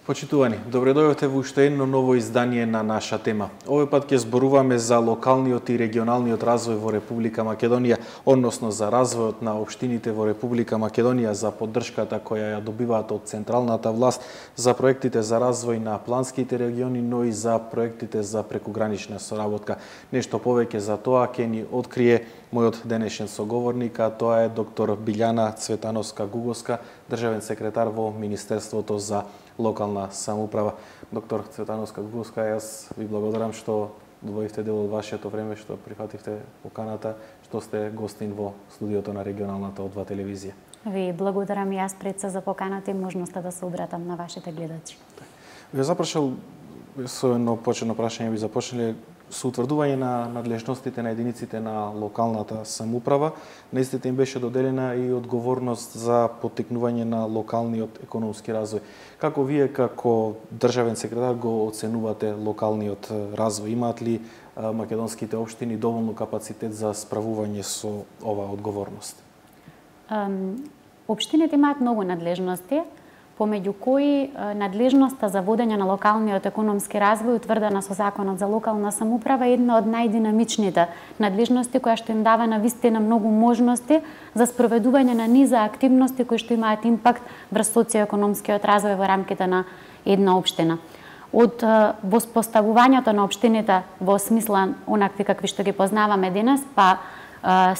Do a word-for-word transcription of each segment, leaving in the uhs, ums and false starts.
Почитувани, добре дојдовте во уште едно ново издание на наша тема. Овој пат ќе зборуваме за локалниот и регионалниот развој во Република Македонија, односно за развојот на општините во Република Македонија, за поддршката која ја добиваат од централната власт, за проектите за развој на планските региони, но и за проектите за прекугранична соработка. Нешто повеќе за тоа ќе ни открие мојот денешен соговорник, а тоа е доктор Билјана Цветановска-Гуговска, државен секретар во Министерството за локална самоуправа. Доктор Цветановска-Гуговска, јас ви благодарам што добавивте дел од вашето време, што прифативте поканата, што сте гостин во студиото на регионалната О два телевизија. Ви благодарам и јас пред се за поканата и можноста да се обратам на вашите гледачи. Ви запрашал со едно почетно прашање, ви започнале со утврдување на надлежностите на единиците на локалната самоуправа. На истите им беше доделена и одговорност за поттикнување на локалниот економски развој. Како вие како државен секретар го оценувате локалниот развој? Имаат ли македонските општини доволно капацитет за справување со оваа одговорност? Општините имаат многу надлежности, помеѓу кои надлежноста за водење на локалниот економски развој, утврдена со Законот за локална самоуправа, е една од најдинамичните надлежности, која што им дава на вистина многу можности за спроведување на низа активности кои што имаат импакт врз социоекономскиот развој во рамките на една општина. Од воспоставувањето на општините во смисла онакви какви што ги познаваме денес, па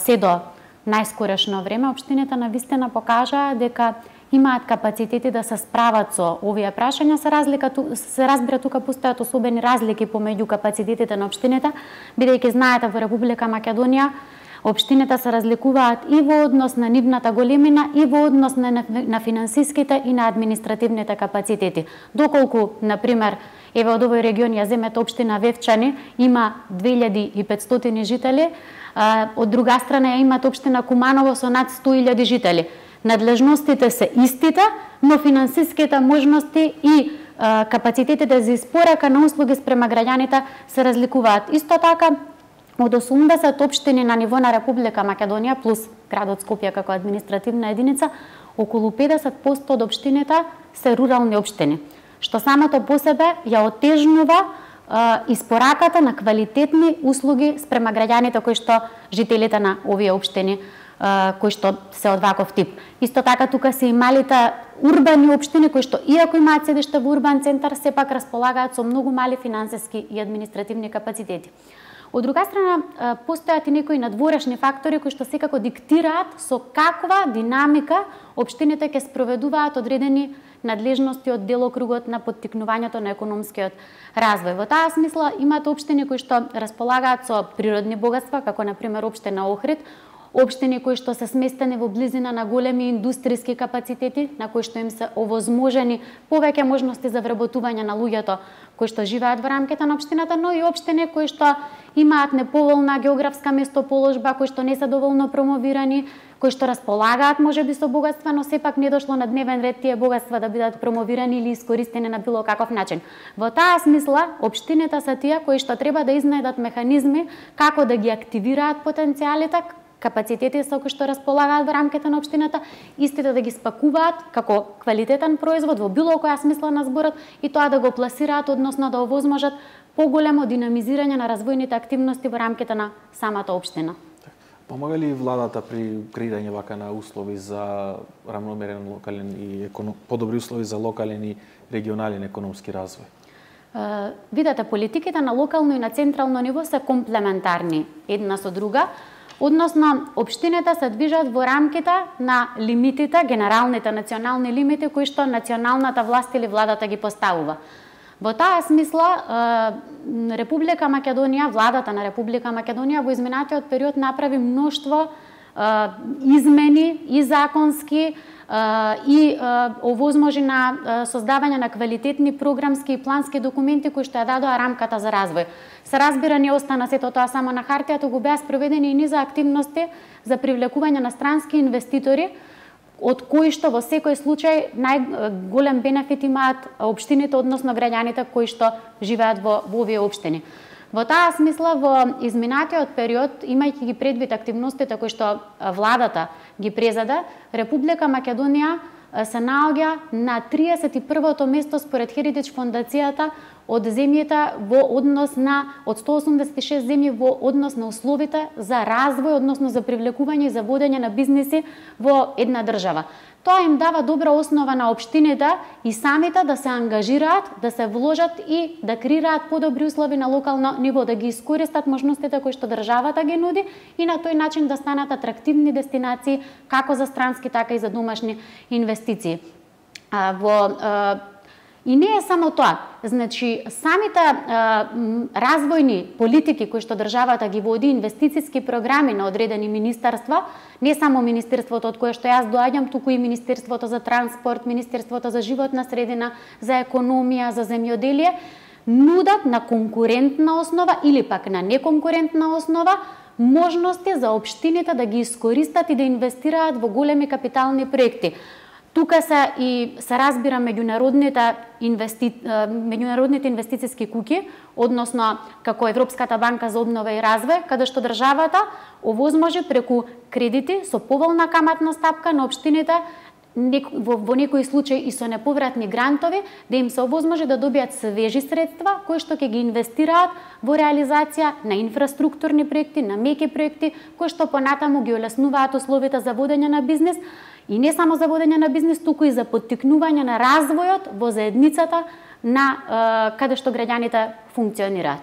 се до најскорешно време, општините на вистина покажаа дека имаат капацитети да се справат со овие прашања. Се разлика се разбира тука постојат особени разлики помеѓу капацитетите на општините, бидејќи знаете во Република Македонија општините се разликуваат и во однос на нивната големина и во однос на, на финансиските и на административните капацитети. Доколку, например, еве од овој регион ја земете општина Вевчани, има две илјади и петстотини жители, а, од друга страна ја имат општина Куманово со над сто илјади жители. Надлежностите се истите, но финансиските можности и а, капацитетите за испорака на услуги спрема граѓаните се разликуваат. Исто така, од осумдесет општини на ниво на Република Македонија плюс градот Скопје како административна единица, околу педесет проценти од општините се рурални општини, што самото по себе ја отежнува а, испораката на квалитетни услуги спрема граѓаните кои што жителите на овие општини кои што се од ваков тип. Исто така тука се и малите урбани општини кои што иако имаат седиште во урбан центар, сепак располагаат со многу мали финансиски и административни капацитети. Од друга страна, постојат и некои надворешни фактори кои што секако диктираат со каква динамика општините ќе спроведуваат одредени надлежности од делокругот на поттикнувањето на економскиот развој. Во таа смисла имаат општини кои што располагаат со природни богатства, како на пример општина Охрид, општини кои што се сместени во близина на големи индустријски капацитети, на кои што им се овозможени повеќе можности за вработување на луѓето кои што живеат во рамките на општината, но и општини кои што имаат неповолна географска местоположба, кои што не се доволно промовирани, кои што располагаат можеби со богатства, но сепак не дошло на дневен ред тие богатства да бидат промовирани или искористени на било каков начин. Во таа смисла, општините се тие кои што треба да изнајдат механизми како да ги активираат потенцијалите, капацитети со кои што располагаат во рамките на општината, истите да ги спакуваат како квалитетен производ во било која смисла на зборот и тоа да го пласираат, односно да овозможат поголемо динамизирање на развојните активности во рамките на самата општина. Помага ли владата при креирање вака на услови за рамномерен локален и економ... подобри услови за локален и регионален економски развој? Uh, видете, политиките на локално и на централно ниво се комплементарни една со друга. Односно, општините се движат во рамките на лимитите, генералните национални лимити кои што националната власт или владата ги поставува. Во таа смисла, Република Македонија, владата на Република Македонија во изминатиот период направи мноштво измени и законски и овозможи на создавање на квалитетни програмски и плански документи кои што ја дадоа рамката за развој. Се разбира, не остана сето тоа само на хартија, туку беа спроведени и низа активности за привлекување на странски инвеститори, од кои што во секој случај најголем бенефит имаат општините, односно граѓаните кои што живеат во, во овие општини. Во таа смисла, во изминатиот период, имајќи ги предвид активностите кои што владата ги презаде, Република Македонија се наоѓа на триесет и првото место според Heritage фондацијата од земјите во однос на од сто осумдесет и шест земји во однос на условите за развој, односно за привлекување и за водење на бизниси во една држава. Тоа им дава добра основа на општините и самите да се ангажираат, да се вложат и да креираат подобри услови на локално ниво, да ги искористат можностите кои што државата ги нуди и на тој начин да станат атрактивни дестинации како за странски, така и за домашни инвестиции. А, во а, И не е само тоа. Значи, самите а, развојни политики кои што државата ги води, инвестициски програми на одредени министерства, не само министерството од кое што јас доаѓам, туку и Министерството за транспорт, Министерството за животна средина, за економија, за земјоделие, нудат на конкурентна основа или пак на неконкурентна основа можности за општините да ги искористат и да инвестираат во големи капитални проекти. Тука се и се разбира меѓународните инвести... меѓународните инвестициски куќи, односно како Европската банка за обнова и развој, каде што државата овозможи преку кредити со поволна каматна стапка на општините во, во некои случаи и со неповратни грантови, да им се овозможи да добијат свежи средства кои што ќе ги инвестираат во реализација на инфраструктурни проекти, на меки проекти, кои што понатаму ги олеснуваат условите за водење на бизнис. И не само за водење на бизнис, туку и за поттикнување на развојот во заедницата на е, каде што граѓаните функционираат.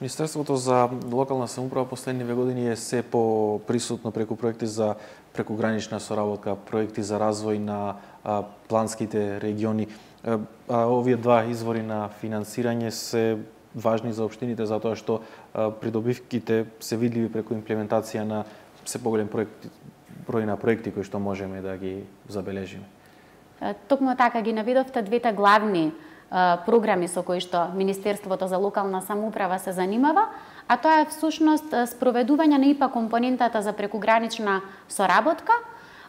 Министерството за локална самоуправа последниве години е се по-присутно преку проекти за прекугранична соработка, проекти за развој на а, планските региони. А, а, овие два извори на финансирање се важни за општините затоа што а, придобивките се видливи преку имплементација на се поголем проекти, број на проекти кои што можеме да ги забележиме. Токму така ги наведовте двете главни а, програми со кои што Министерството за локална самоуправа се занимава, а тоа е всушност спроведување на ИПА компонентата за прекугранична соработка,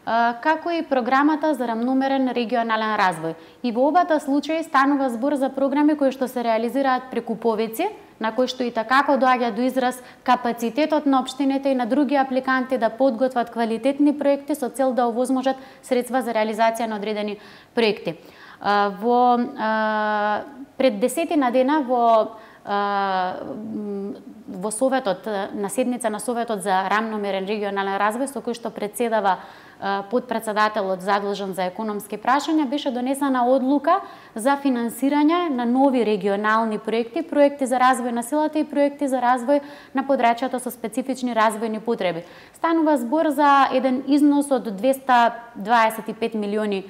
а, како и програмата за рамномерен регионален развој. И во обата случаи станува збор за програми кои што се реализираат преку повици, на кои што и такако доаѓа до израз капацитетот на општините и на други апликанти да подготват квалитетни проекти со цел да овозможат средства за реализација на одредени проекти. Во пред десетина дена во во Советот, на седница на Советот за рамномерен регионален развој, со кој што председава подпредседателот задолжен за економски прашања, беше донесена одлука за финансирање на нови регионални проекти, проекти за развој на силата и проекти за развој на подрачјата со специфични развојни потреби. Станува збор за еден износ од двесте дваесет и пет милиони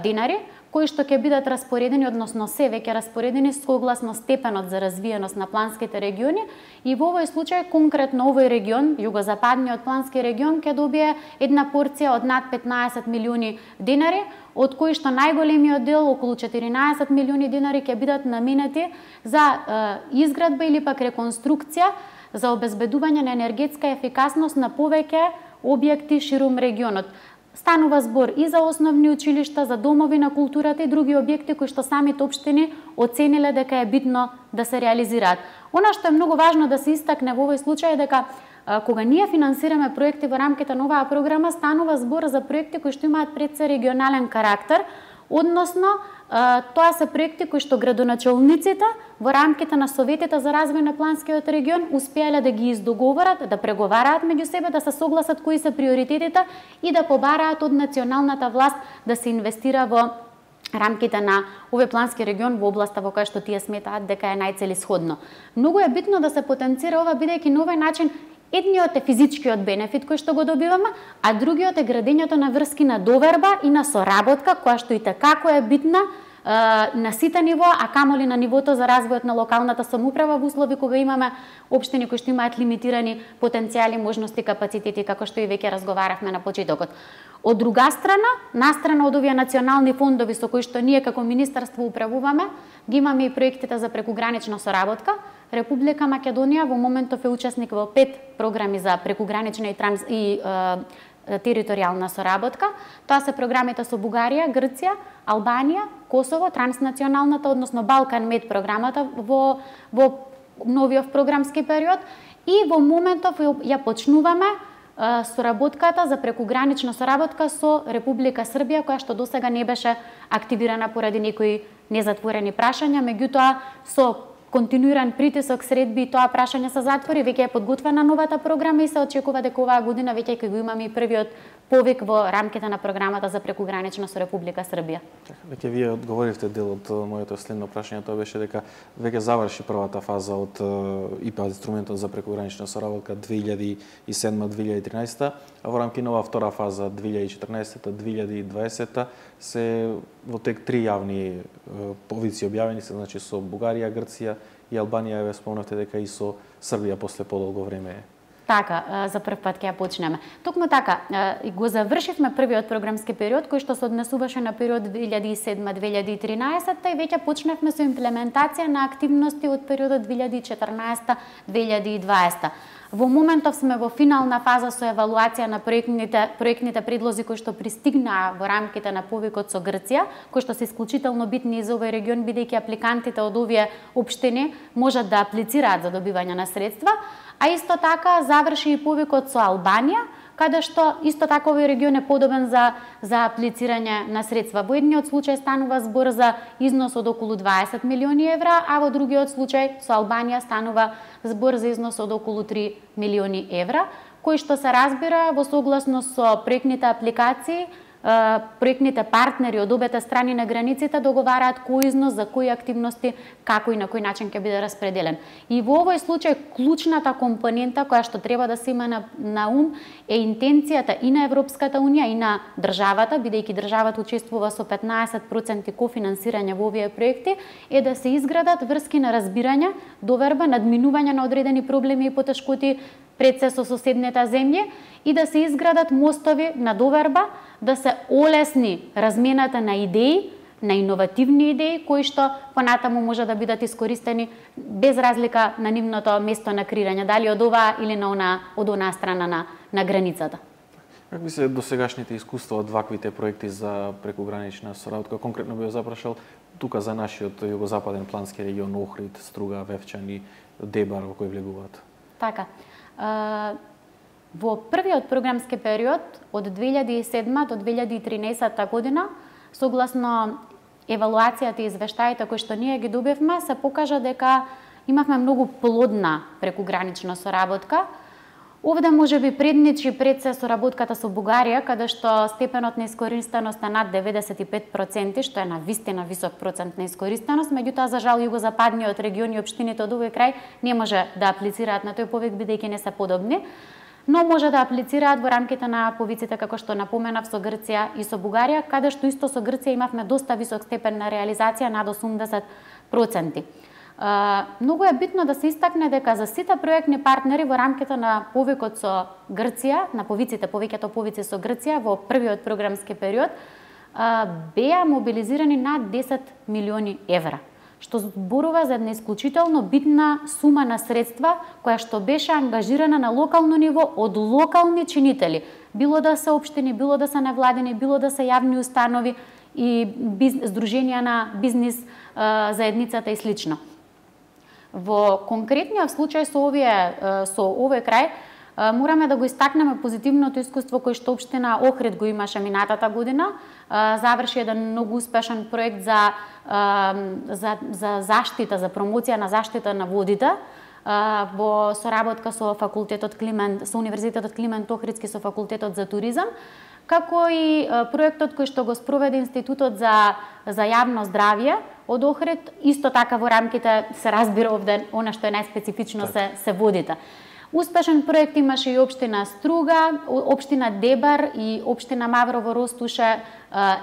динари, кои што ќе бидат распоредени, односно се веќе распоредени согласно степенот за развиеност на планските региони, и во овој случај конкретно овој регион, југозападниот плански регион, ќе добие една порција од над петнаесет милиони динари, од кои што најголемиот дел, околу четиринаесет милиони динари, ќе бидат наменети за е, изградба или пак реконструкција за обезбедување на енергетска ефикасност на повеќе објекти ширум регионот. Станува збор и за основни училишта, за домови на културата и други објекти кои што самите општини оцениле дека е битно да се реализираат. Она што е многу важно да се истакне во овој случај е дека кога ние финансираме проекти во рамките на оваа програма, станува збор за проекти кои што имаат пред се регионален карактер, односно тоа се проекти кои што градоначалниците во рамките на советите за развој на планскиот регион успеале да ги издоговорат, да преговараат меѓу себе, да се согласат кои се приоритетите и да побараат од националната власт да се инвестира во рамките на овој плански регион во областа во која што тие сметаат дека е најцелисходно. Многу е битно да се потенцира ова, бидејќи на овој начин едниот е физичкиот бенефит кој што го добиваме, а другиот е градењето на врски на доверба и на соработка, која што и такако е битна е, на сите ниво, а камоли на нивото за развојот на локалната самоуправа во услови кога имаме општини кои што имаат лимитирани потенцијали, можности, капацитети, како што и веќе разговаравме на почетокот. Од друга страна, настрана од овие национални фондови со кои што ние како министерство управуваме, ги имаме и проектите за прекугранична соработка. Република Македонија во моментов е учесник во пет програми за прекугранична и, транс... и е, територијална соработка. Тоа се програмите со Бугарија, Грција, Албанија, Косово, транснационалната, односно Балкан Мед програмата во, во новиот програмски период. И во моментов ја почнуваме соработката за прекугранична соработка со Република Србија, која што досега не беше активирана поради некои незатворени прашања, меѓутоа со континуиран притисок, средби и тоа прашање се затвори, веќе е подготвена новата програма и се очекува дека оваа година веќе ќе го имаме и првиот повик во рамките на програмата за прекугранична со Република Србија. Веќе вие одговоривте дел од моето следно прашање, тоа беше дека веќе заврши првата фаза од ИПА инструментот за прекугранична соработка две илјади и седма - две илјади и тринаесетта, а во рамки на оваа втора фаза две илјади и четрнаесетта - две илјади и дваесетта се во тек три јавни повици објавени се, значи со Бугарија, Грција и Албанија, ве спомнавте дека и со Србија после подолго време. Така, за прв пат ќе ја почнеме. Токму така, го завршивме првиот програмски период кој што се однесуваше на период две илјади и седма - две илјади и тринаесетта и веќе почнавме со имплементација на активности од периодот две илјади и четрнаесетта - две илјади и дваесетта. Во моментов сме во финална фаза со евалуација на проектните проектните предлози кои што пристигнаа во рамките на повикот со Грција, кои што се исклучително битни и за овој регион бидејќи апликантите од овие општини можат да аплицираат за добивање на средства, а исто така заврши и повикот со Албанија, каде што исто така овој регион е подобен за за аплицирање на средства. Во едниот случај станува збор за износ од околу дваесет милиони евра, а во другиот случај со Албанија станува збор за износ од околу три милиони евра, кои што се разбира во согласност со проектните апликации, проектните партнери од обете страни на границите договараат кој износ за кои активности, како и на кој начин ќе биде распределен. И во овој случај клучната компонента која што треба да се има на, на ум е интенцијата и на Европската унија и на државата, бидејќи државата учествува со петнаесет проценти кофинансирање во овие проекти, е да се изградат врски на разбирање, доверба, надминување на одредени проблеми и потешкоти пред се со соседните земји и да се изградат мостови на доверба, да се олесни размената на идеи, на иновативни идеи кои што понатаму може да бидат искористени без разлика на нивното место на креирање, дали од оваа или на она, од онаа страна на, на границата. Как би се досегашните искуства од ваквите проекти за прекугранична соработка? Конкретно би ја запрашал тука за нашиот југозападен плански регион, Охрид, Струга, Вевчани, Дебар, во кој влегуваат? Така. Во првиот програмски период од две илјади и седма до две илјади и тринаесетта година, согласно евалуацијата и извештаите кои што ние ги добивме, се покажа дека имавме многу плодна прекугранична соработка. Овде може би предничи пред се соработката со Бугарија, каде што степенот на искористеност е над деветдесет и пет проценти, што е на вистина висок процент на искористеност, меѓутоа за жал југозападниот регион и општините од овој крај не може да аплицираат на тој повик бидејќи не се подобни, но може да аплицираат во рамките на повиците како што напоменав со Грција и со Бугарија, каде што исто со Грција имавме доста висок степен на реализација над осумдесет проценти. Uh, многу е битно да се истакне дека за сите проектни партнери во рамките на повикот со Грција, на повиците, повеќето повици со Грција во првиот програмски период, uh, беа мобилизирани над десет милиони евра, што зборува за една исклучително битна сума на средства која што беше ангажирана на локално ниво од локални чинители, било да се општини, било да се невладени, било да се јавни установи и биз... здруженија на бизнис uh, заедницата и слично. Во конкретниот случај со овие со овој крај мораме да го истакнеме позитивното искуство кој што општина Охрид го имаше минатата година. Заврши еден многу успешен проект за за за заштита, за промоција на заштита на водите во соработка со факултетот Климент, со Универзитетот Климент Охридски, со факултетот за туризам, како и проектот кој што го спроведе Институтот за за јавно здравје од Охрид, исто така во рамките се разбира овде она што е најспецифично се се водите. Успешен проект имаше и општина Струга, општина Дебар и општина Маврово Ростуше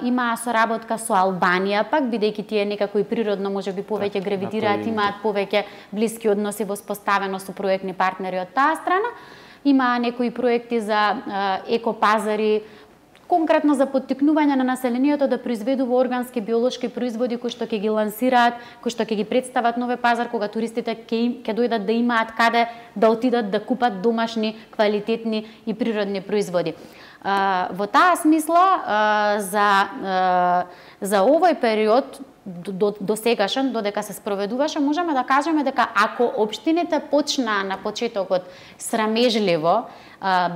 имаа соработка со Албанија, пак бидејќи тие некако и природно можеби повеќе гравитираат, имаат повеќе блиски односи воспоставено со проектни партнери од таа страна. Имаа некои проекти за екопазари, конкретно за поттикнување на населението да произведува органски биолошки производи кои што ќе ги лансираат, кои што ќе ги представат нови пазар кога туристите ќе ќе дојдат да имаат каде да отидат да купат домашни, квалитетни и природни производи. Во таа смисла за за овој период до, до сегашен, додека се спроведуваше, можеме да кажеме дека ако општините почнаа на почетокот срамежливо,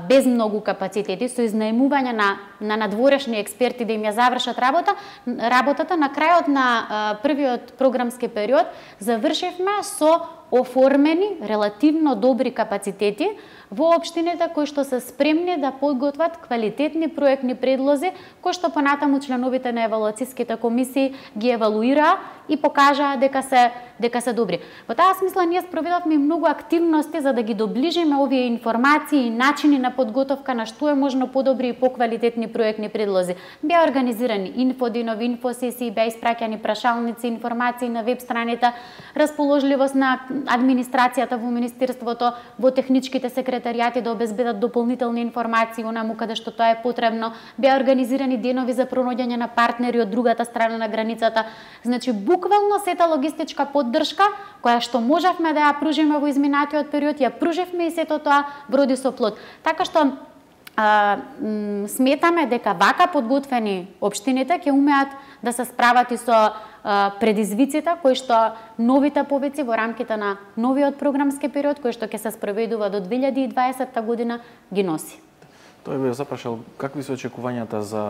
без многу капацитети, со изнаемување на, на надворешни експерти да им ја завршат работа, работата, на крајот на првиот програмски период завршивме со оформени релативно добри капацитети во општините кои што се спремни да подготват квалитетни проектни предлози, кои што понатаму членовите на евалуациските комисии ги евалуираа и покажаа дека се дека се добри. Во таа смисла ние спроведовме многу активности за да ги доближиме овие информации и начини на подготовка на што е можно подобри и поквалитетни проектни предлози. Беа организирани инфодинови, инфосесии, беа испраќани прашалници, информации на веб страница, расположливост на администрацијата во министерството, во техничките секретаријати да обезбедат дополнителни информации онаму каде што тоа е потребно. Беа организирани денови за пронаоѓање на партнери од другата страна на границата. Значи буквално сета логистичка поддршка која што можевме да ја пружиме во изминатиот период, ја пруживме и сето тоа вроди со плод. Така што а, сметаме дека вака подготвени општините ќе умеат да се справат и со а, предизвиците кои што новите повици во рамките на новиот програмски период кој што ќе се спроведува до две илјади и дваесетта година ги носи. Тој би запрашал какви се очекувањата за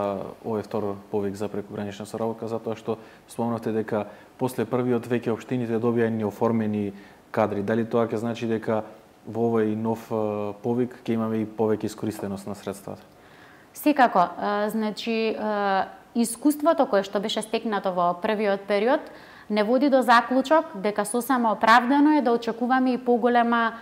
овој втор повик за прекогранична соработка, затоа што спомнавте дека после првиот веќе општините добија неоформени кадри. Дали тоа ќе значи дека во овој нов повик ќе имаме и повеќе искористеност на средствата? Секако, значи искуството кое што беше стекнато во првиот период не води до заклучок дека сосема оправдано е да очекуваме и поголема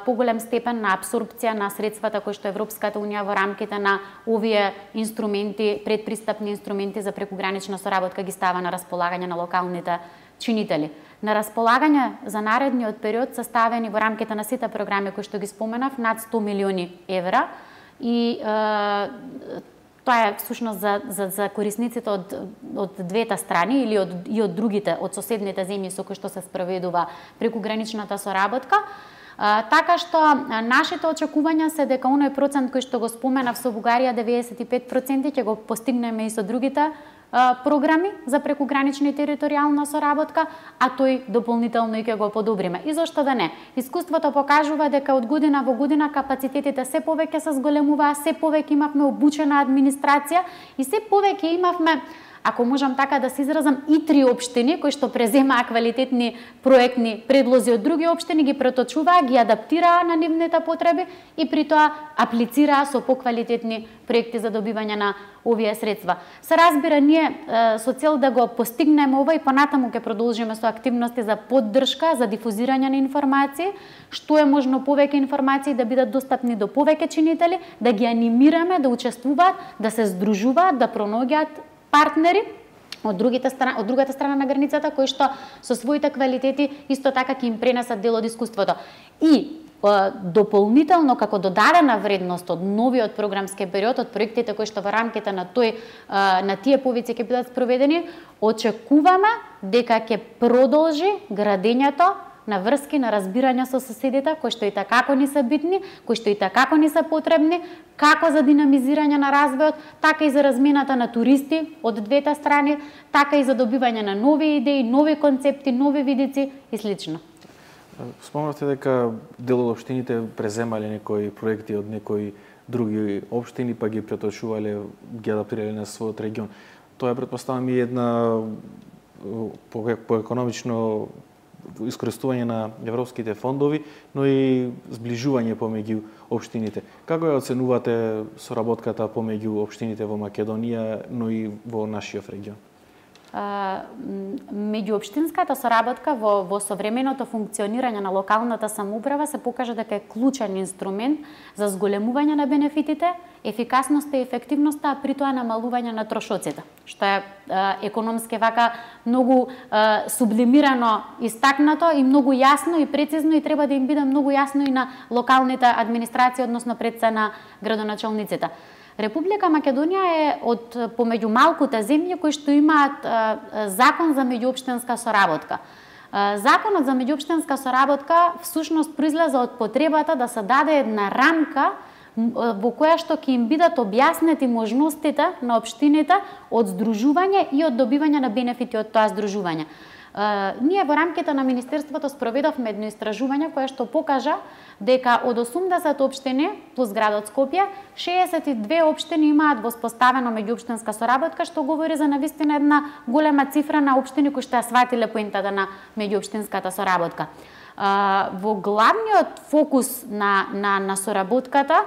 поголем степен на апсорбција на средствата кои што Европската унија во рамките на овие инструменти, предпристапни инструменти за прекогранична соработка ги става на располагање на локалните чинители. На располагање за наредниот период се ставени во рамките на сите програми кои што ги споменав над сто милиони евра и е, тоа е всушност за, за, за корисниците од, од двете страни или од, и од другите, од соседните земји со кои што се спроведува прекограничната соработка. А, така што нашите очекувања се дека оној процент кој што го споменав со Бугарија деветдесет и пет проценти ќе го постигнеме и со другите а, програми за прекогранична и територијална соработка, а тој дополнително и ќе го подобриме. И зошто да не? Искуството покажува дека од година во година капацитетите се повеќе се зголемуваа, се повеќе имавме обучена администрација и се повеќе имавме, ако можам така да се изразам, и три општини кои што преземаа квалитетни проектни предлози од други општини, ги преточуваа, ги адаптираа на нивните потреби и при тоа аплицираа со поквалитетни проекти за добивање на овие средства. Се разбира, ние со цел да го постигнеме ова и понатаму ќе продолжиме со активности за поддршка, за дифузирање на информации, што е можно повеќе информации да бидат достапни до повеќе чинители, да ги анимираме да учествуваат, да се здружуваат, да пронаоѓаат партнери од другите страна, од другата страна на границата кои што со своите квалитети исто така ќе им пренесат дел од искуството. И дополнително како додадена вредност од новиот програмски период, од проектите кои што во рамките на тој на тие повици ќе бидат спроведени, очекуваме дека ќе продолжи градењето на врски, на разбирање со соседите, кои што и такако ни се битни, кои што и такако ни се потребни, како за динамизирање на развојот, така и за размената на туристи од двете страни, така и за добивање на нови идеи, нови концепти, нови видици и слично. Спомнавте дека дел од општините преземале некои проекти од некои други општини, па ги преточувале, ги адаптирале на својот регион. Тоа е, претпоставам, и една по, по економично искористување на европските фондови, но и зближување помеѓу општините. Како ја оценувате соработката помеѓу општините во Македонија, но и во нашиот регион? Меѓуопштинската соработка во, во современото функционирање на локалната самоуправа се покажа дека е клучен инструмент за зголемување на бенефитите, ефикасноста и ефективноста, а при тоа намалување на трошоците, што е економски вака многу е, сублимирано истакнато и многу јасно и прецизно и треба да им биде многу јасно и на локалните администрации, односно пред се на градоначалниците. Република Македонија е од помеѓу малкуте земји кои што имаат е, закон за меѓуопштинска соработка. Е, законот за меѓуопштинска соработка всушност произлезе од потребата да се даде една рамка во која што ќе им бидат објаснети можностите на општините од здружување и од добивање на бенефити од тоа здружување. ние во рамките на Министерството спроведовме едно истражување кое што покажа дека од осумдесет општини плюс градот Скопје, шеесет и две општини имаат воспоставено меѓуопштинска соработка, што говори за навистина една голема цифра на општини кои што ја сватиле поентата на меѓуопштинската соработка. Во главниот фокус на, на, на соработката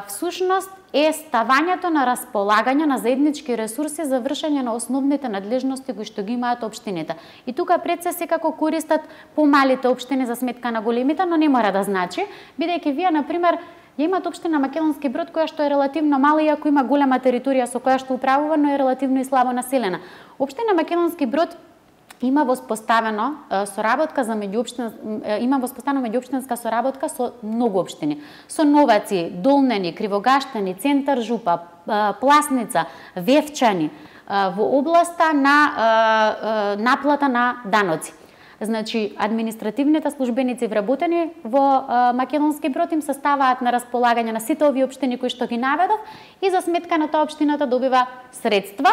всушност е ставањето на располагање на заеднички ресурси за вршење на основните надлежности кои што ги имаат општините. И тука пред се секако користат помалите општини за сметка на големите, но не мора да значи, бидејќи вие на пример ја имат општина Македонски Брод која што е релативно мала, иако има голема територија со која што управува, но е релативно и слабо населена. Општина Македонски Брод има воспоставено соработка за меѓуопштинска има воспоставено меѓуопштинска соработка со многу општини. Со Новаци, Долнени, Кривогаштани, Центар Жупа, Пласница, Вевчани во областа на наплата на даноци. Значи, административните службеници вработени во Македонски Брод им се ставаат на располагање на сите овие општини кои што ги наведов и за сметка на тоа општината добива средства.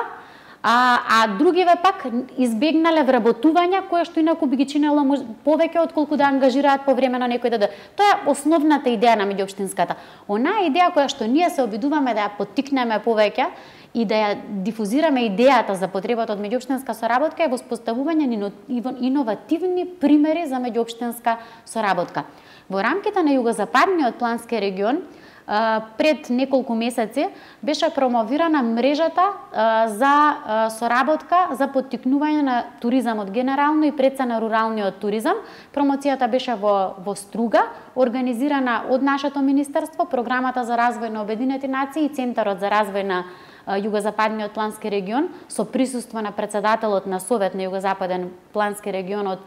А, а другиве пак избегнале вработувања која што инаку би ги чинело повеќе отколку да ангажираат по време на некој даде. Тоа е основната идеја на меѓуопштинската. Онаа идеја која што ние се обидуваме да ја поттикнеме повеќе и да ја дифузираме идејата за потребата од меѓуопштинска соработка е воспоставување на иновативни примери за меѓуопштинска соработка. Во рамките на југозападниот плански регион пред неколку месеци беше промовирана мрежата за соработка за поттикнување на туризамот генерално и преца на руралниот туризам. Промоцијата беше во, во Струга, организирана од нашето министерство, Програмата за развој на Обединети нации и Центарот за развој на Југозападниот плански регион со присуство на председателот на Совет на Југозападен плански регион од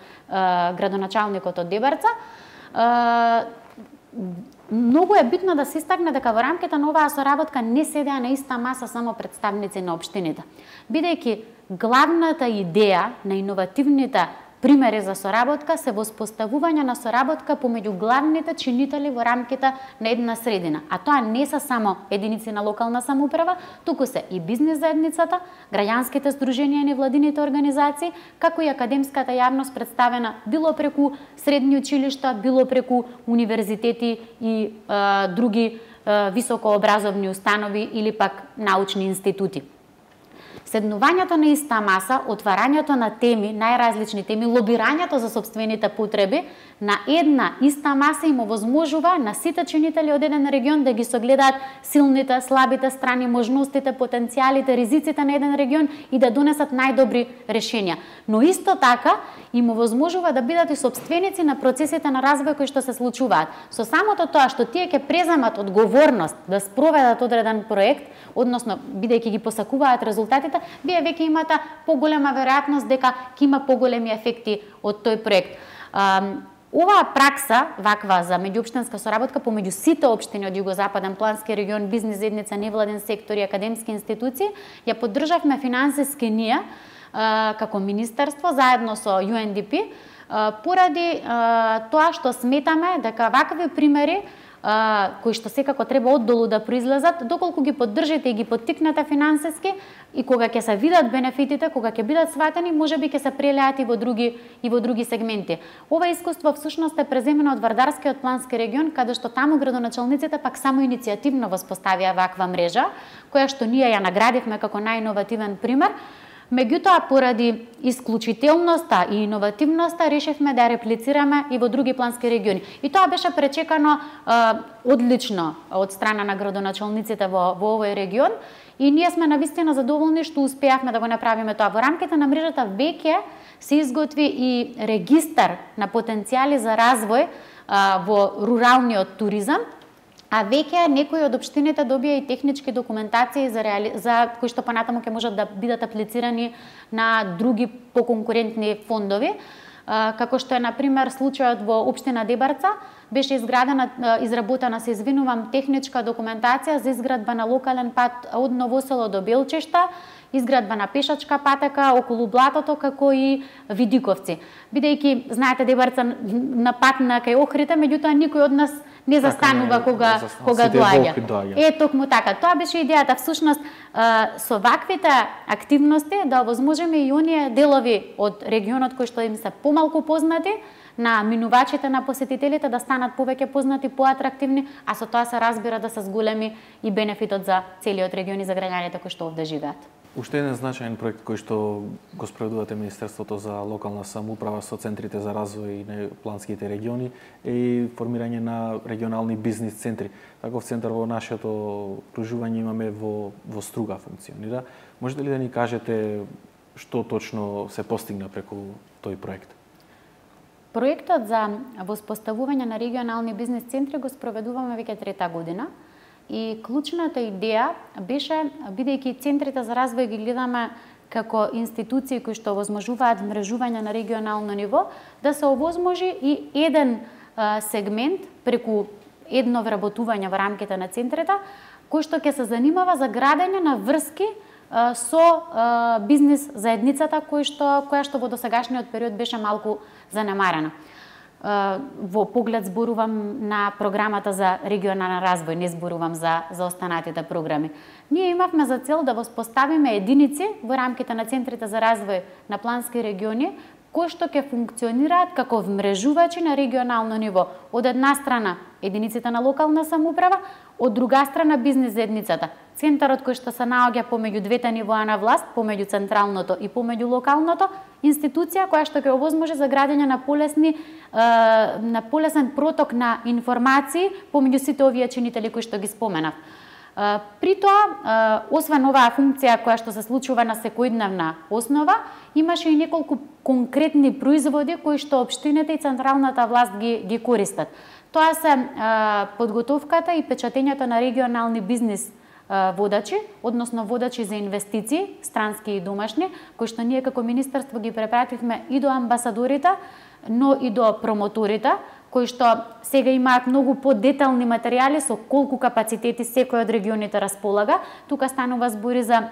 градоначалникот од Дебарца. Многу е битно да се истакне дека во рамките на оваа соработка не седеа на иста маса само представници на општините, бидејќи главната идеја на иновативните примери за соработка се воспоставување на соработка помеѓу главните чинители во рамките на една средина. А тоа не се само единици на локална самоуправа, туку се и бизнис заедницата, граѓанските здруженија и невладините организации, како и академската јавност представена било преку средни училишта, било преку универзитети и е, други е, високообразовни установи или пак научни институти. Седнувањето на иста маса, отварањето на теми, најразлични теми, лобирањето за собствените потреби на една иста маса им овозможува на сите чинители од еден регион да ги согледаат силните, слабите страни, можностите, потенцијалите, ризиците на еден регион и да донесат најдобри решенија. Но исто така им овозможува да бидат и собственици на процесите на развој кои што се случуваат. Со самото тоа што тие ќе преземат одговорност да спроведат одреден проект, односно бидејќи ги посакуваат резултатите, вие веќе имате поголема веројатност дека ќе има поголеми ефекти од тој проект. Оваа пракса, ваква за меѓуопштинска соработка помеѓу сите општини од Југозападен плански регион, бизнис заедница, невладен сектор и академски институции, ја поддржавме финансиски ние како министерство заедно со Ю Ен Ди Пи поради тоа што сметаме дека вакви примери кои што секако треба оддолу да произлезат, доколку ги поддржите и ги поттикнете финансиски и кога ќе се видат бенефитите, кога ќе бидат сватени, можеби ќе се прелеат и во други и во други сегменти. Ова искуство всушност е преземено од Вардарскиот плански регион, каде што таму градоначалниците пак само иницијативно воспоставија ваква мрежа, која што ние ја наградивме како најиновативен пример. Меѓутоа, поради исклучителноста и иновативноста, решивме да реплицираме и во други плански региони. И тоа беше пречекано е, одлично од страна на градоначалниците во, во овој регион и ние сме навистина задоволни што успеавме да го направиме тоа. Во рамките на мрежата веќе се изготви и регистар на потенцијали за развој е, во руралниот туризам, а веќе некои од општините добија и технички документации за, реали... за кои што понатаму ќе можат да бидат аплицирани на други поконкурентни фондови, како што е на пример случајот во општина Дебарца, беше изградена, изработена, се извинувам, техничка документација за изградба на локален пат од Новосело до Белчешта, изградба на пешачка патека околу блатото, како и Видиковци. Бидејќи, знаете, Дебарца на пат на кај Охрите, меѓутоа никој од нас не застанува така, кога за, кога доаѓа. доаѓа. Е токму така. Тоа беше идејата всушност со ваквите активности да овозможиме и оние делови од регионот кои што им се помалку познати на минувачите, на посетителите да станат повеќе познати, поатрактивни, а со тоа се разбира да се зголеми и бенефитот за целиот регион и за граѓаните кои што овде живеат. Уште еден значаен проект кој што го спроведувате Министерството за локална самоуправа со центрите за развој на планските региони е и формирање на регионални бизнис центри. Таков центар во нашето окружување имаме во во Струга функционира. Можете ли да ни кажете што точно се постигна преку тој проект? Проектот за воспоставување на регионални бизнис центри го спроведуваме веќе трета година. И клучната идеја беше, бидејќи центрите за развој ги гледаме како институции кои што овозможуваат мрежување на регионално ниво, да се овозможи и еден а, сегмент преку едно вработување во рамките на центрите, кој што ќе се занимава за градење на врски а, со а, бизнис заедницата кој што која што во досегашниот период беше малку занемарена. Во поглед зборувам на програмата за регионален развој, не зборувам за за останатите програми. Ние имавме за цел да воспоставиме единици во рамките на центрите за развој на плански региони кои што ќе функционираат како вмрежувачи на регионално ниво. Од една страна единиците на локална самоуправа, од друга страна бизнис заедницата. Центарот кој што се наоѓа помеѓу двете нивоа на власт, помеѓу централното и помеѓу локалното, институција која што ќе овозможи за градење на полесни на полесен проток на информации помеѓу сите овие чинители кои што ги споменав. При тоа, освен оваа функција која што се случува на секојдневна основа, имаше и неколку конкретни производи кои што општините и централната власт ги ги користат. Тоа се подготовката и печатењето на регионални бизнис водачи, односно водачи за инвестиции, странски и домашни, кои што ние како министерство ги препративме и до амбасадорите, но и до промоторите, кои што сега имаат многу подетални материјали со колку капацитети секој од регионите располага. Тука станува збори за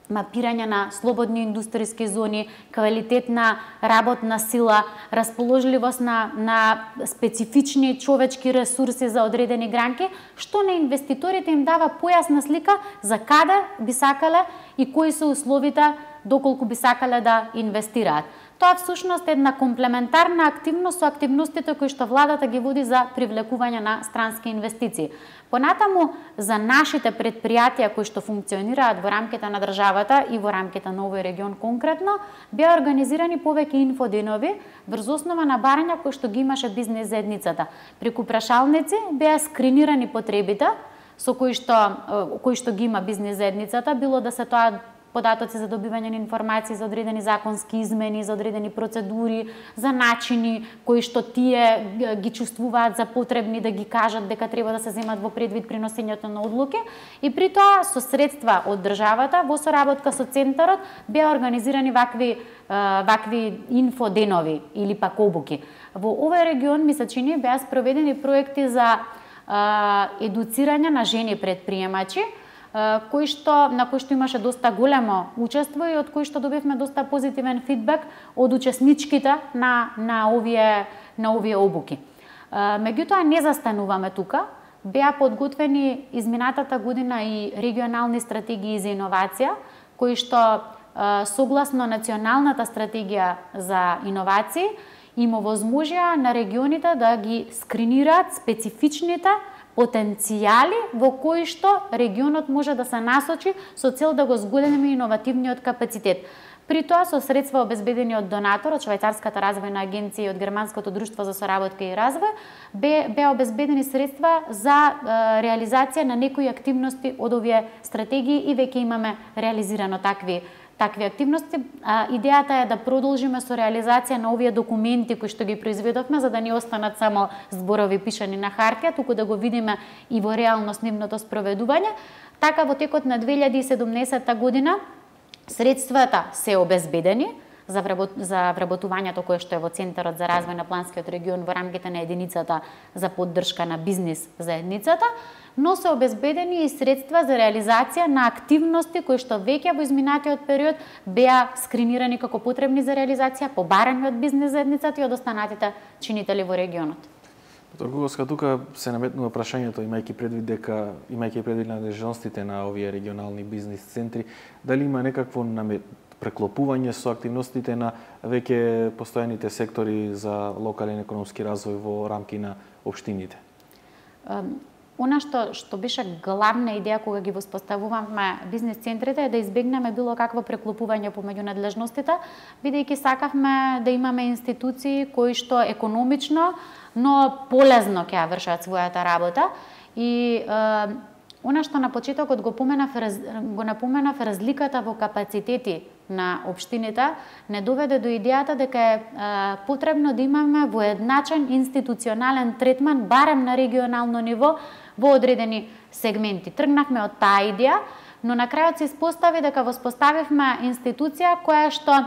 мапирање на слободни индустријски зони, квалитет на работна сила, расположливост на, на специфични човечки ресурси за одредени гранки, што на инвеститорите им дава појасна слика за каде би сакале и кои се условите доколку би сакале да инвестираат. Тоа всушност е една комплементарна активност со активностите кои што владата ги води за привлекување на странски инвестиции. Понатаму, за нашите предпријатија кои што функционираат во рамките на државата и во рамките на овој регион конкретно, беа организирани повеќе инфоденови врз основа на барања кои што ги имаше бизнис заедницата. Преку прашалници беа скринирани потребите со кои што кои што ги има бизнис заедницата, било да се тоа податоци за добивање на информации за одредени законски измени, за одредени процедури, за начини кои што тие ги чувствуваат за потребни да ги кажат дека треба да се земат во предвид при носењето на одлуки, и при тоа со средства од државата во соработка со центарот беа организирани вакви вакви инфоденови или пак обуки. Во овој регион ми се чини беа спроведени проекти за едуцирање на жени предприемачи, кои што на кои што имаше доста големо учество и од кои што добивме доста позитивен фидбек од учесничките на на овие на овие обуки. Меѓутоа не застануваме тука. Беа подготвени изминатата година и регионални стратегии за иновација, кои што согласно националната стратегија за иновации им овозможија на регионите да ги скринираат специфичните потенцијали во кои што регионот може да се насочи со цел да го зголеми иновативниот капацитет. При тоа со средства обезбедени од донатор, од Швајцарската развојна агенција и од Германското друштво за соработка и развој, бе беа обезбедени средства за е, реализација на некои активности од овие стратегии и веќе имаме реализирано такви такви активности. А, идејата е да продолжиме со реализација на овие документи кои што ги произведовме, за да не останат само зборови пишани на хартија, туку да го видиме и во реалност нивното спроведување. Така во текот на две илјади и седумнаесетта година средствата се обезбедени за за вработувањето кое што е во Центарот за развој на планскиот регион во рамките на единицата за поддршка на бизнис заедницата, но се обезбедени и средства за реализација на активности кои што веќе во изминатиот период беа скринирани како потребни за реализација, побарани од бизнис заедницата и од останатите чинители во регионот. Торговска, тука се наметнува прашањето, имајќи предвид дека имајќи предвид надлежностите на овие регионални бизнис центри, дали има некакво намет преклопување со активностите на веќе постојаните сектори за локален економски развој во рамки на општините? Она што што беше главна идеја кога ги воспоставувавме бизнис центрите е да избегнеме било какво преклопување помеѓу надлежностите, бидејќи сакавме да имаме институции кои што економично, но полезно ќе ја вршат својата работа. И е, она што на почетокот го поменав, го напоменав, разликата во капацитети на општините не доведе до идејата дека е, е потребно да имаме воедначен институционален третман барем на регионално ниво во одредени сегменти. Тргнавме од таа идеја, но на крајот се испостави дека воспоставивме институција која што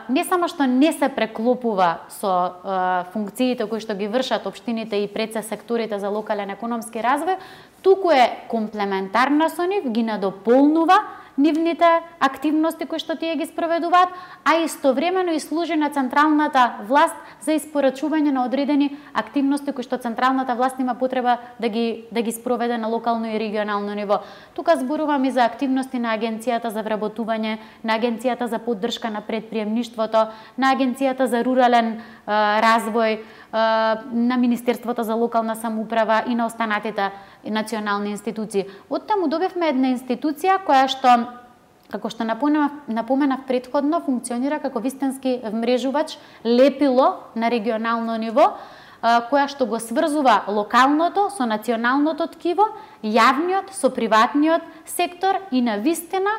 не само што не се преклопува со функциите кои што ги вршат општините и пред се секторите за локален економски развој, туку е комплементарна со нив, ги надополнува нивните активности кои што тие ги спроведуваат, а истовремено и служи на централната власт за испорачување на одредени активности кои што централната власт има потреба да ги да ги спроведе на локално и регионално ниво. Тука зборувам и за активности на Агенцијата за вработување, на Агенцијата за поддршка на предприемништвото, на Агенцијата за рурален а, развој, а, на Министерството за локална самоуправа и на останатите национални институции. Оттаму добивме една институција која што, како што напоменав, напоменав предходно, функционира како вистински вмрежувач, лепило на регионално ниво, која што го сврзува локалното со националното ткиво, јавниот со приватниот сектор и на вистина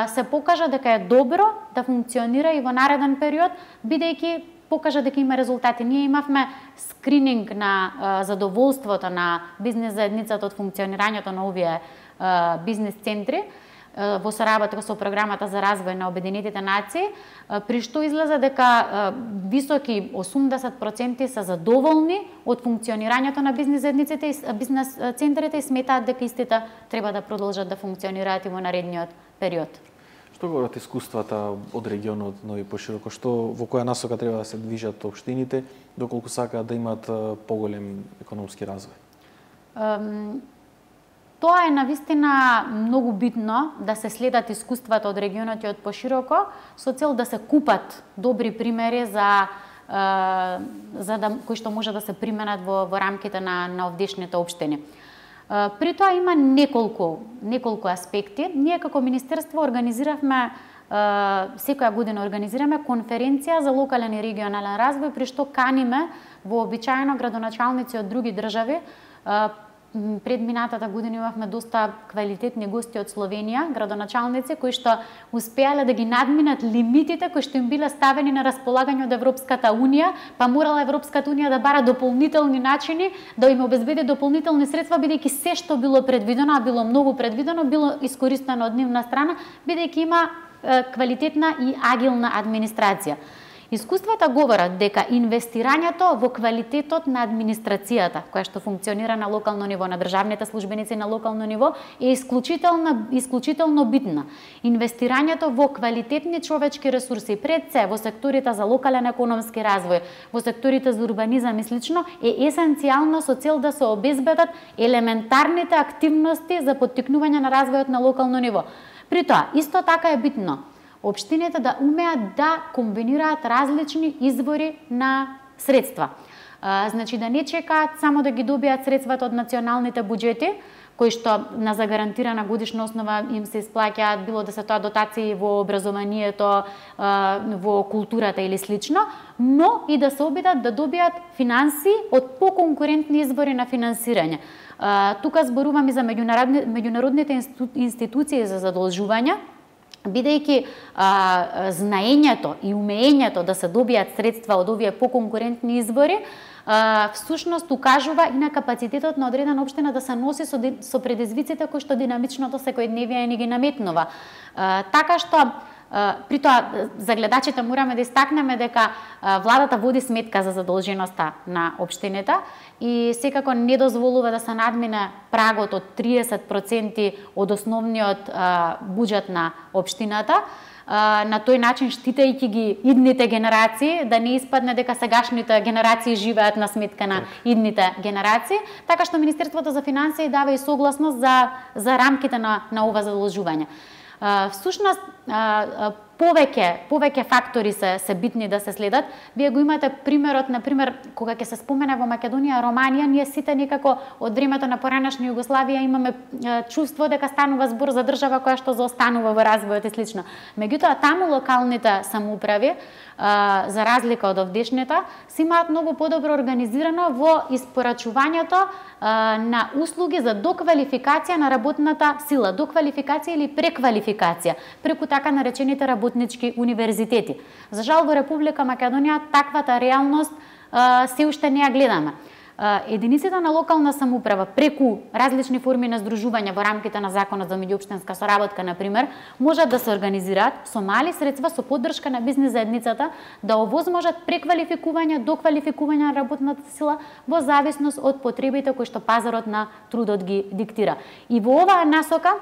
се покажа дека е добро да функционира и во нареден период, бидејќи покажа дека има резултати. Ние имавме скрининг на а, задоволството на бизнес заедницата од функционирањето на овие а, бизнес центри а, во соработка со програмата за развој на Обединетите нации, а, при што излезе дека а, високи осумдесет проценти се задоволни од функционирањето на бизнес заедниците и бизнес центрите и сметаат дека истите треба да продолжат да функционираат и во наредниот период. Што говорат искуствата од регионот, но и пошироко, што во која насока треба да се движат општините, доколку сакаат да имаат поголем економски развој? Um, тоа е навистина многу битно да се следат искуствата од регионот и од пошироко со цел да се купат добри примери за uh, за да кои што може да се применат во во рамките на на овдешните општини. При тоа има неколку, неколку аспекти. Ние како Министерство организиравме, секоја година организираме конференција за локален и регионален развој, при што каниме вообичаено градоначалници од други држави. Пред минатата година имавме доста квалитетни гости од Словенија, градоначалници кои што успеале да ги надминат лимитите кои што им биле ставени на располагање од Европската унија, па морала Европската унија да бара дополнителни начини да им обезбеди дополнителни средства, бидејќи се што било предвидено, а било многу предвидено, било искористено од нивна страна, бидејќи има е, квалитетна и агилна администрација. Искуствата говорат дека инвестирањето во квалитетот на администрацијата, која што функционира на локално ниво, на државните службеници на локално ниво, е исклучително, исклучително битна. Инвестирањето во квалитетни човечки ресурси, пред се во секторите за локален економски развој, во секторите за урбанизам и слично, е есенцијално со цел да се обезбедат елементарните активности за поттикнување на развојот на локално ниво. При тоа, исто така е битно општините да умеат да комбинираат различни извори на средства. А, значи да не чекаат само да ги добијат средствата од националните буџети, кои што на загарантирана годишна основа им се исплаќаат, било да се тоа дотации во образованието, а, во културата или слично, но и да се обидат да добијат финанси од поконкурентни извори на финансирање. А, тука зборувам и за меѓународни, меѓународните институции за задолжување, бидејќи а, знаењето и умеењето да се добијат средства од овие поконкурентни извори, а, всушност укажува и на капацитетот на одредена општина да се носи со, со предизвиците кои што динамичното секојдневие ни ги наметнува. А, така што При тоа, за гледачите мораме да истакнеме дека владата води сметка за задолженоста на општините и секако не дозволува да се надмине прагот од триесет проценти од основниот буџет на општината. На тој начин штитајќи ги идните генерации, да не испадне дека сегашните генерации живеат на сметка на идните генерации, така што Министерството за финансии дава и согласност за за рамките на на ова задолжување. Всушност, повеќе повеќе фактори се се битни да се следат. Вие го имате примерот, на пример, кога ќе се спомене во Македонија Романија, ние сите некако од времето на поранешна Југославија имаме чувство дека станува збор за држава која што заостанува во развојот и слично. Меѓутоа, таму локалните самоуправи, за разлика од овдешните, се имаат многу подобро организирано во испорачувањето на услуги за доквалификација на работната сила, доквалификација или преквалификација, преку така наречените работнички универзитети. За жал во Република Македонија таквата реалност се уште не ја гледаме. Единиците на локална самоуправа преку различни форми на здружување во рамките на Законот за меѓуопштинска соработка, на пример, можат да се организираат со мали средства, со поддршка на бизнис заедницата, да овозможат преквалификување, доквалификување на работната сила во зависност од потребите кои што пазарот на трудот ги диктира. И во оваа насока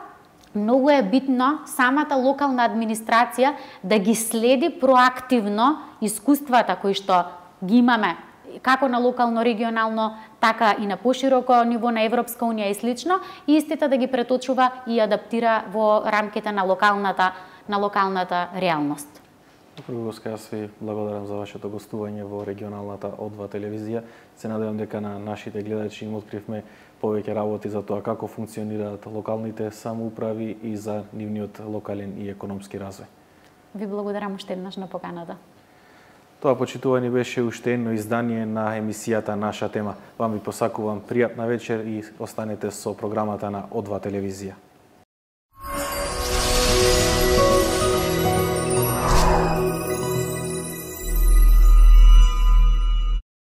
многу е битно самата локална администрација да ги следи проактивно искуствата кои што ги имаме како на локално, регионално, така и на пошироко ниво на Европска унија и слично, и истите да ги преточува и адаптира во рамките на локалната на локалната реалност. Првоска, јас ви благодарам за вашето гостување во регионалната О два телевизија. Се надевам дека на нашите гледачи им откривме повеќе работи за тоа како функционираат локалните самоуправи и за нивниот локален и економски развој. Ви благодарам уште еднаш на поканата. Тоа, почитувани, беше уште едно издание на емисијата Наша тема. Вам ви посакувам пријатна вечер и останете со програмата на О два телевизија.